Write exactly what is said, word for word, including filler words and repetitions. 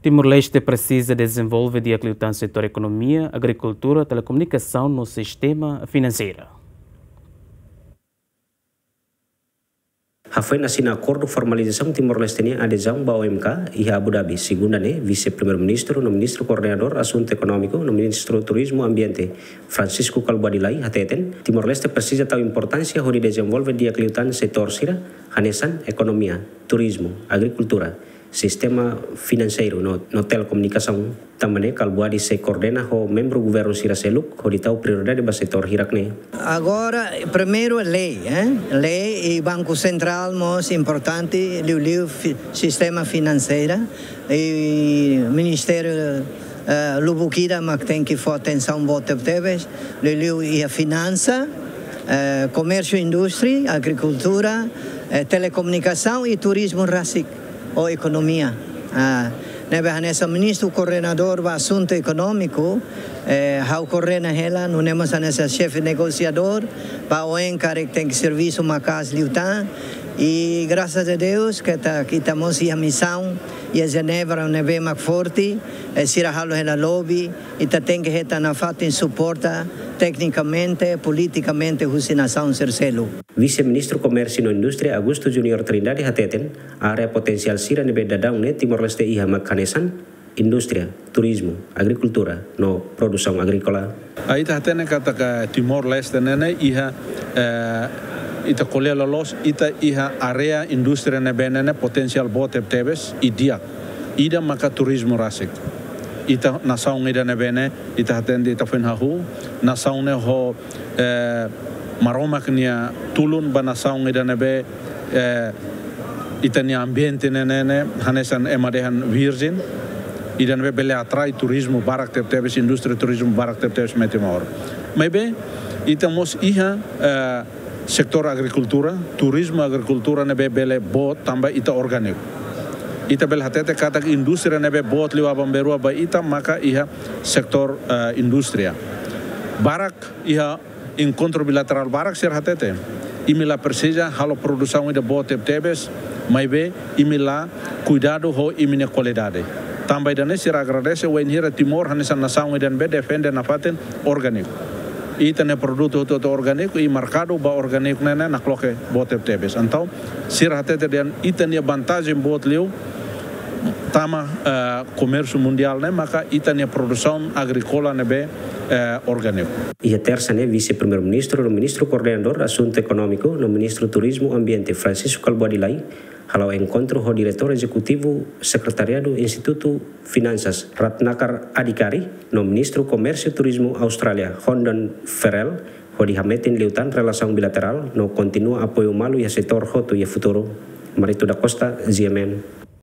Timor-Leste presiza dezenvolve di'ak liután setór ekonomia, agrikultura, telekomunikasaun no sistema finanseiru. Hafoin asina akordu formalizasaun Timor-Leste nia adezaun ba O M K iha Abu Dhabi, segunda ne'e, Vise-Primeiru-Ministru no Ministru Koordenadór Asuntu Ekonómiku no Ministru Turizmu Ambiente, Francisco Kalbuadi Lay, hateten, Timor-Leste presiza tau importánsia hodi dezenvolve di'ak liután setór sira, hanesan ekonomia, turizmu, agrikultura, sistema finanseiru no, no telekomunikasaun. Tanba ne'e Kalbuadi sei koordena ho membru governu sira seluk hodi tau prioridade ba setór hirak ne'e. Agora, primeiru é lei, eh? Lei i Banku Sentrál mós importante, liuliu fi-, sistema finanseiru i ministériu, eh, lubuk ida mak tenke fó atensaun boot tebes, liuliu iha finansa, eh, komérsiu, indústria, agrikultura, eh, telekomunikasaun i turizmu rasik ou ekonomia. Ah, ne'ebé hanesan Ministru Koordenadór ba Asuntu Ekonómiku, eh, ha'u koordena hela, nune'e mós hanesan xefe negosiadór, ba oin karik tenke servisu maka'as liután. I grasas a Deus, keta, ita mós iha misaun iha Jenebra ne'ebé mak forte, eh, sira halo hela lobby, ita tenke hetan nafatin suporta teknikamente, politikamente husi nasaun sira seluk. Vise-Ministru Komérsiu no Indústria Augusto Junior Trindade hateten, área potensiál sira ne'ebé daudaun ne'e Timor-Leste iha mak hanesan indústria, turizmu, agrikultura no produsaun agríkola. Ita hatene katak Timor-Leste ne'e ne'e iha, eh, ita ko'alia loloos, ita iha área indústria ne'ebé ne'e ne'e potensiál boot tebetebes i di'ak. Ida maka turizmu rasik. Ita nasaun ida ne'ebé ne'e, ita hatene ita foin hahú, nasaun ne'e ho, eh, Maromak nia tulun ba nasaun ida ne'ebé, eh, ita-nia ambiente ne'e ne'e ne'e hanesan ema dehan virjen, ida ne'ebé bele atrai turizmu barak tebetebes, indústria turizmu barak tebetebes mai Timor. Maibé, ita mós iha, eh, setór agrikultura, turizmu agrikultura ne'ebé bele boot tanba ita orgániku. Ita bele hatete katak indústria ne'ebé boot liu aban-bainrua ba ita maka iha setór, eh, indústria. Barak iha enkontru bilaterál barak sira hatete, imi la presiza halo produsaun ida boot tebetebes, maibé imi la kuidadu ho imi-nia kualidade. Tanba ida-ne'e sira agradese wainhira Timor hanesan nasaun ida ne'ebé defende nafatin orgániku. Ita-nia produtu hotu-hotu orgániku i merkadu ba orgániku ne'e ne'e nakloke boot tebetebes. Entaun, sira hatete dehan ita-nia vantajen boot liu tama, eh, komérsiu mundiál ne'e maka ita-nia produsaun agríkola ne'ebé, eh, orgániku. Iha Tersa ne'e Vise-Primeiru-Ministru no Ministru Koordenadór Asuntu Ekonómiku no Ministru Turizmu Ambiente Francisco Kalbuadi Lay hala'o enkontru ho Diretór Ezekutivu Sekretariadu Institutu Finansas Ratnakar Adhikari no Ministru Komérsiu Turizmu Austrália Hondon Ferrell hodi hametin liután relasaun bilaterál no kontinua apoiu malu iha setór hotu iha futuru. Marito da Costa, G M N.